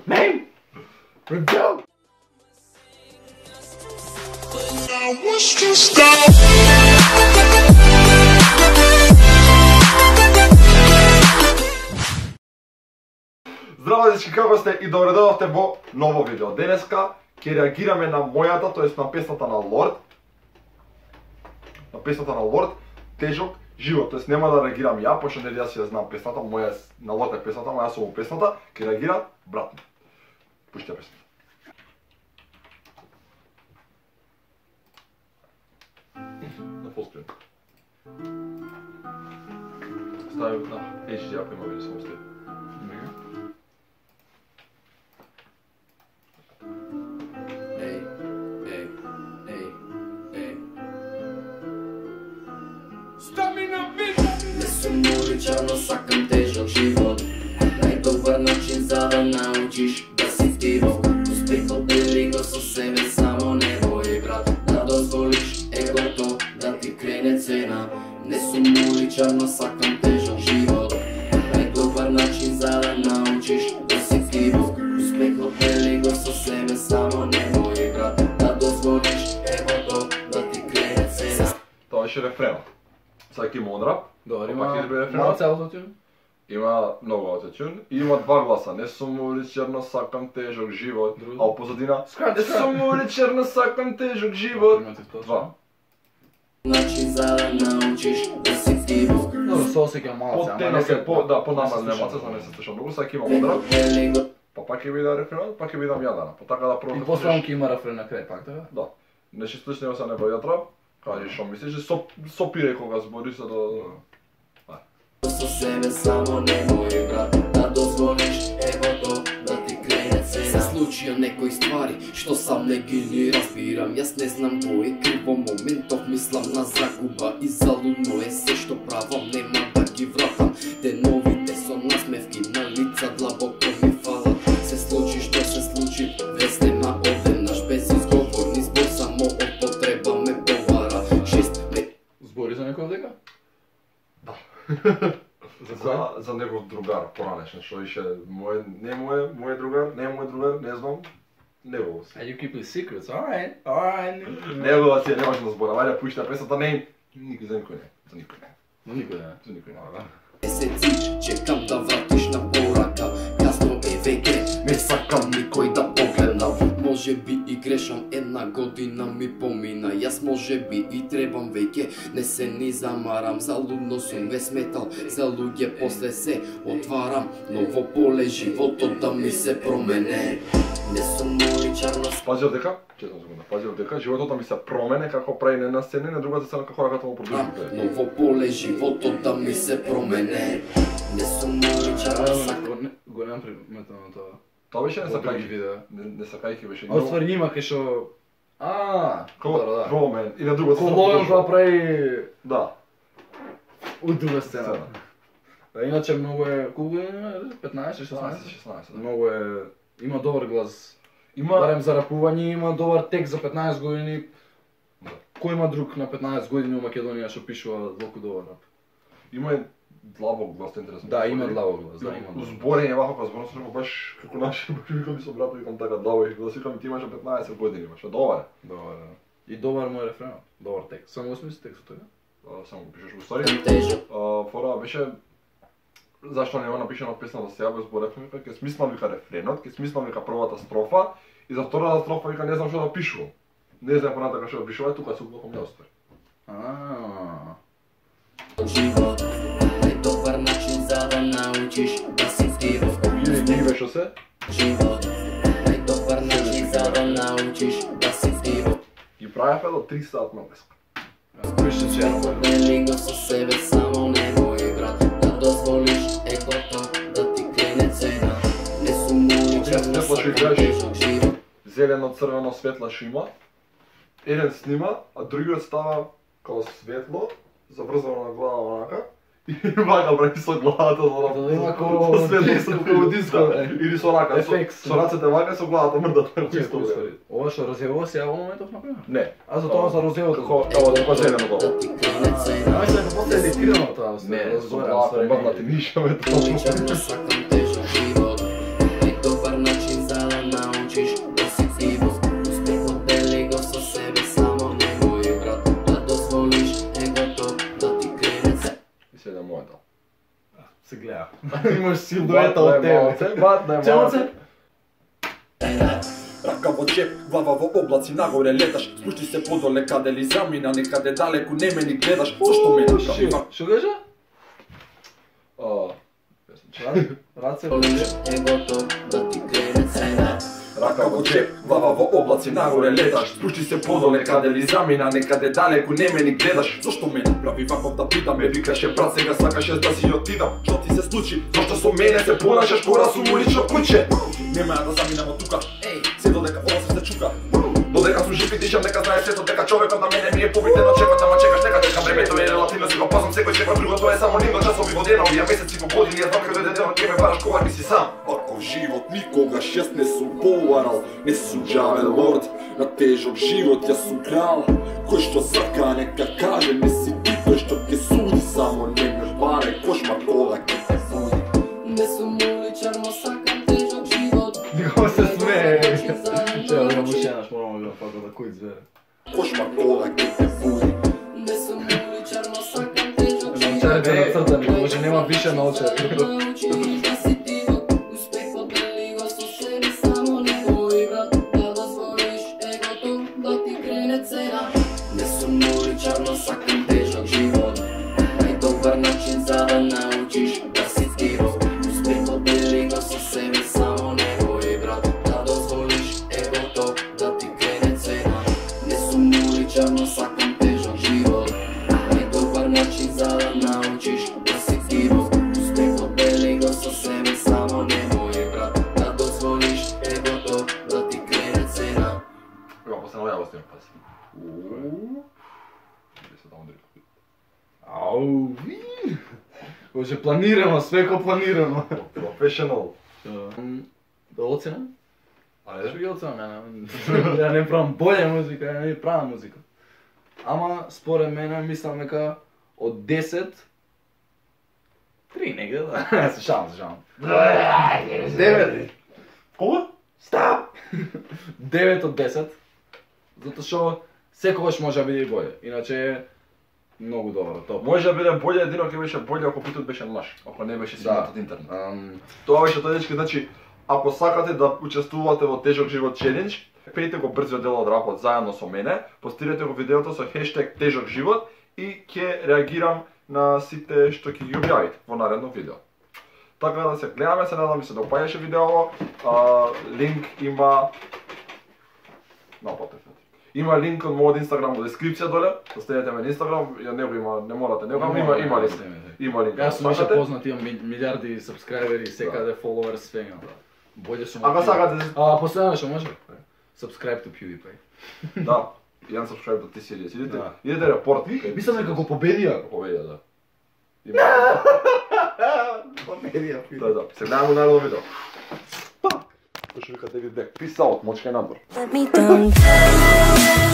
Name! Review! Здраво дечки, како сте и добре дојдовте во ново видео. Денеска ќе реагираме на мојата, тоест на песната на Лорд. На песната на Лорд, Тежок живот. Тоест нема да реагирам ја, пошто нели јас ја знам песната, моја на Лорд е песната, моја сум песната, ќе реагира брат ми. Пушти ја песната. На фолскрин. Ставим на HD, ако има видео само сте. Не сум уличар, но сакам тежок живот. Најдобар начин за да научиш да си тиво. Успехот дели го со себе, само немој брат. Да дозволиш егото да ти крене цена. Не сум уличар, но сакам тежок живот. Најдобар начин за да научиш да си тиво. Успехот дели го со себе, само немој брат. Да дозволиш егото да ти крене цена. Тоа беше рефренот. Сега ќе има онрап. Добар, има малце аутотюн. Има многу аутотюн и има два гласа. Не сум уличар, но сакам тежок живот. А у позадина не сум уличар, но сакам тежок живот. Два. Начин за да научиш да си тиво. Добро, се осеќам малце, ама не се по намазне, за не се слуша многу. Сега ќе има онрап. Па пак ќе биде рефренот, пак ќе бидам јадана. Па така да пробам. И после ќе има рефрен на крај пак, така? Да. Нешто слично се не бајат рап. Кажи што мислиш, сопире кога збори за да... Со себе само немој брат, да дозволиш егото да ти крене цена. Се случија некои ствари, што сам не ги ни разбирам. Јас не знам кој е крив во моментов, мислам на загуба и залудно е се што правам, нема да ги вратам. Деновите со насмевки на лица длабоко ми фалат. Се случи што се случи, веќе нема одеднаш без изговорни збор, само од потреба ме повара. Збори за некој дека? Да. За кој? За негов другар, поранешен, што ише мој другар, не знам, негов си. And you keep the secrets, alright. Негова си, немаш да зборам, ајде пушти песната, не, никој за никој не, за никој не. Но никој не. За никој не, да. Месеци, чекам да вратиш на порака, касно е веќе, не сакам никој да погледнам. Може би и грешам, една година ми помина, јас може би и требам веќе, не се ни замарам, залудно сум ве сметал, за луѓе после се отварам, ново поле животот да ми се промене. Не сум уличар, но Пазил дека, честно секунда, пазил дека животот да ми се промене како прави не на сцена, на другата сцена како раката му продолжи. ново поле животот да ми се промене. Не сум уличар, но сакам. Го немам приметено на тоа. Тоа беше не Во други сакајки, видеа. не сакајки беше. А ствари има кај што... Добро, да. Промен, и на другата Ко Лојан тоа прави Да. у друга сцена. Да, иначе многу е... Колку е? 15, 16? 16, да. Многу е... Има добар глас. Има... Барем за рапување, има добар текст за 15 години. Да. Кој има друг на 15 години у Македонија што пишува толку добар рап? Има и длабок глас, интересно. Да, има длабок глас, да, има. Узборење вака кога зборам со него баш како наши, викам ми со брат, викам така длабок глас, викам ти имаш 15 години, баш добар. Добар, да. И добар му е рефренот, добар текст. Само го смисли текстот, така? Само го пишеш во стари. Фора беше зашто не го напишано песната сега без зборевме, вика ќе смислам вика рефренот, ќе смислам вика првата строфа и за втората строфа вика не знам што да пишувам. Не знам понатака што да пишувам, тука се уплакам не оствари. Живот, најдобар начин за да научиш да си тиво. Ги беше се? Живот, најдобар начин за да научиш да си тиво. Ги правевме до 3 сат на леска. Дели го со себе, само немој брат, да дозволиш егото да ти крене цена. Не сум уличар, но сакам тежок живот. Зелено, црвено, светла шима. Еден снима, а другиот става као светло, заврзано на глава онака. И вака прави со главата за да има како диско или со рака, со рацете вака со главата мрдат чисто. Ова што розево се јава моментов например? Не. А за тоа за розевото. Како како зелено тоа. Ај се како после едитирано тоа. Не, со главата мрдат и нишаме тоа. Уличар, но сакам тежок живот. Најдобар начин доета од тебе. Батна Челце? Рака во джеп, глава во облаци, нагоре леташ. Спушти се подоле каде ли замина, некаде далеку не ме ни гледаш. Зошто ме направи вака? Шо кажа? Раце во Волиш егото да ти крене цена. Рака во джеп, глава во облаци, нагоре леташ. Спушти се подоле каде ли замина, некаде далеку не ме ни гледаш. Зошто ме направи ваков да питам, ме викаше брат, сега сакаше да си отидам. Што ти се случи? Зошто со мене се понашаш кора сум улично куче? Нема да заминам од тука, се додека ова се чука. Додека сум жив и дишам, нека знае светот дека човекот на мене ми е побитен од чекот, ама чекаш, нека чекам, времето е релативно, си го пазам секој секој друго, тоа е само нивно часови во денови, а месеци во години, ја знам каде денот ќе ме бараш кога си сам. Ваков живот никогаш јас не сум поварал, не сум џавел лорд, на тежок живот јас сум крал, кој што сака нека каже, не си ти тој што ќе суди, само не ме барај кошмар кога ќе те буди. Не сум уличар, но сакам тежок живот. Како се смее. Чео да му шенаш, морamo да фака да кој звере. Кошмар кога ќе те буди. Не сум уличар, но сакам тежок живот. Научарите на цртани, може нема више научари. Научиш да си дивот, успехот дели го со себе, само немој брат, да дозволиш егото да ти крене цена. Не сум уличар, но сакам тежок живот. Најдобар начин за да научиш да си дивот, успехот дели го со себе, само немој брат, да дозволиш егото да ти крене цена. Не сум уличар, но сакам тежок живот. Најдобар начин за да научиш да си дивот, успехот дели го со себе, само немој брат, да дозволиш егото да ти крене цена. Ево, после на ја остим паси. Се таму директно. Ау, ви. Може планирано, свеко планирано. Professional. Да оцена? Ајде. Што ги оценам? Ја не правам боља музика, ја не правам музика. Ама според мене мислам дека од 10 3 негде, да. Се шалам, се шалам. 9. Кога? Стап! 9 од 10. Затоа што секогаш може да биде и боље. Иначе е многу добро, топ. Може да биде боље, едино ќе беше боље ако питот беше лаш, ако не беше сигнат од интернет. Тоа беше тоа дечки, значи, ако сакате да учествувате во тежок живот челендж, пејте го брзиот дел од рапот заедно со мене, постирате го видеото со хештег тежок живот и ќе реагирам на сите што ќе ги објавите во наредно видео. Така да се гледаме, се надам ви се допаѓаше видеово. Линк има Има линк од мојот Инстаграм во дескрипција доле, да следете ме на Инстаграм, ја него има, не морате него, ама има линк. Има линк. Јас сум више познат, имам милиарди сабскрајбери, секаде фоловер, свега. Боље сум. Ако сакате, последно што може? Subscribe to PewDiePie. да, јан subscribe до ти серија. Идете репорт. Мислам дека го победија. Победија, да. Победија. Да, се гледаме наредно видео. Кој што вика David Beck, peace out, мочка и надвор. Let me down.